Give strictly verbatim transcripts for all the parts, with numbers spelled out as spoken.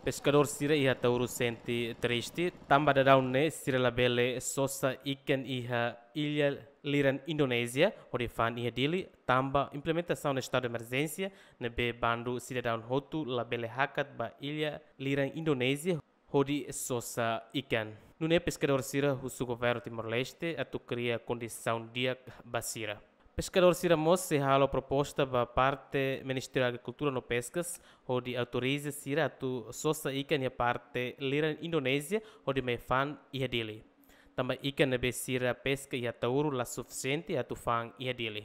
Peskadór sira iha Ataúro sente triste, tanba daudaun ne'e sira labele sosa ikan iha illa liran Indonézia, hodi fa'an iha Dili, tanba implementasaun estadu emerjénsia, ne'ebé bandu sidadaun hotu labele hakat ba illa liran Indonézia, hodi sosa ikan. Nune'e peskadór sira husu governu Timor-Leste atu kria kondisaun di'ak ba sira. Peskadór sira mós sei halo proposta ba parte Ministériu Agrikultura no Peskas, hodi autoriza sira atu sosa ikan iha parte liran Indonézia, hodi mai fa'an iha Dili. Tanba ikan ne'ebé sira peska iha Ataúro la sufisiente atu fa'an iha Dili.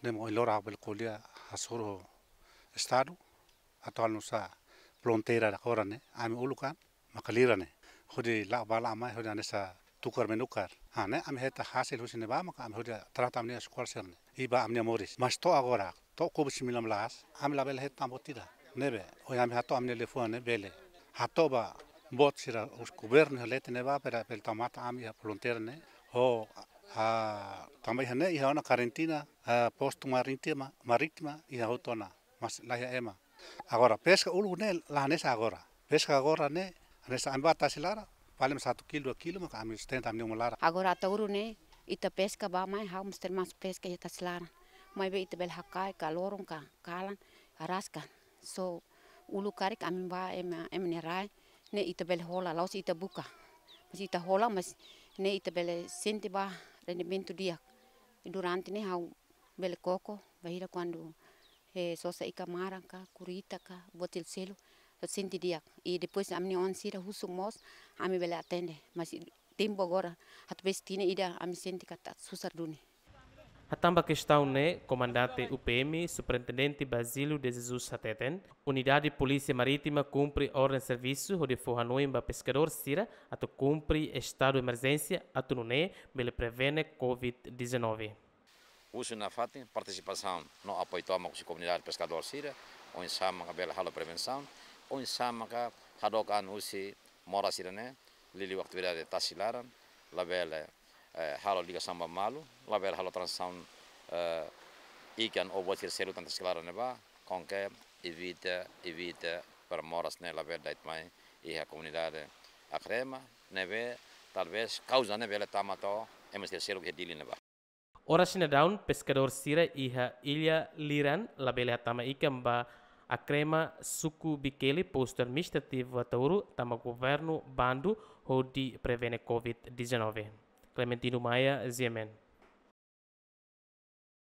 Ne'e mak ohin loron ha'u bele ko'alia hasoru ho estadu, atu halo nu'usá fronteira agora ne'e, ami uluk an, maka liran ne'e. Hodi la'o bá la'o mai, hodi hanesan tukar menukar. Ah, ne'e ami hetan hasil husi ne'ebá, maka ami hodi trata ami-nia eskola sira-ne'e. I ba ami-nia moris. Mas to'o agora, to'o covid sembilan belas, ami labele hetan buat ida. Ne'ebé, ohin ami hato'o ami-nia liafuan ne'e bele. Hato'o ba boot sira husi governu iha leten ne'ebá, para, para tau matan ami iha fronteira ne'e. Ho, ah, tanba iha ne'e, iha ona karantina, ah, postu marítima, marítima, iha hotu ona. Mas la iha ema. Agora, peska uluk ne'e la hanesan agora. Peska agora ne'e, hanesan ami bá tasi laran, paling satu kilo, dua kilo, maka ami sustenta ami-nia uma laran. Agora Ataúro ne'e, ita peska bá mai, ha'u mós termasuk peska iha tasi laran. Maibé ita bele hakarak ka loron ka kalan, araska. So, uluk karik ami bá ema, ema nia rai, ne'e ita bele hola, la'ós ita buka. Mas ita hola, mas ne'e ita bele sente ba rendimentu di'ak. Durante ne'e ha'u bele koko, bainhira kuandu, eh, sosa ikan maran ka, kurita ka, buat selu-seluk, sente di'ak. I depois ami-nia oan sira husu mós, ami bele atende. Mas tempu agora, atu peska tinan ida ami sente katak susar duni. Hatán ba kestaun ne'e, Komandante U P M, Superintendente Basílio de Jesus hateten, Unidade Polísia Marítima kumpre orden servisu hodi fó hanoin ba peskadór sira atu kumpre estadu emerjénsia atu nune'e bele prevene covid dezanove. Husu nafatin partisipasaun no apoiu tomak husi komunidade peskadór sira, oinsá maka bele halo prevensaun, oinsá maka hadook an husi moras sira-ne'e, liuliu atividade tasi laran, labele, eh, halo ligasaun ba malu, labele halo tranzasaun, eh, ikan ou buat sira seluk tan tasi laran ne'ebá, konke evita, evita para moras ne'e labele da'et mai iha komunidade Akrema, ne'ebé talvés kauza ne'e bele tama to'o ema sira seluk iha Dili ne'ebá. Oras ne'e daudaun, peskadór sira iha illa liran labele hatama ikan ba Akrema, suku Bikele, postu administrativu Ataúro, tanba governu bandu hodi prevene covid dezanove. Clementino Maia, G M N.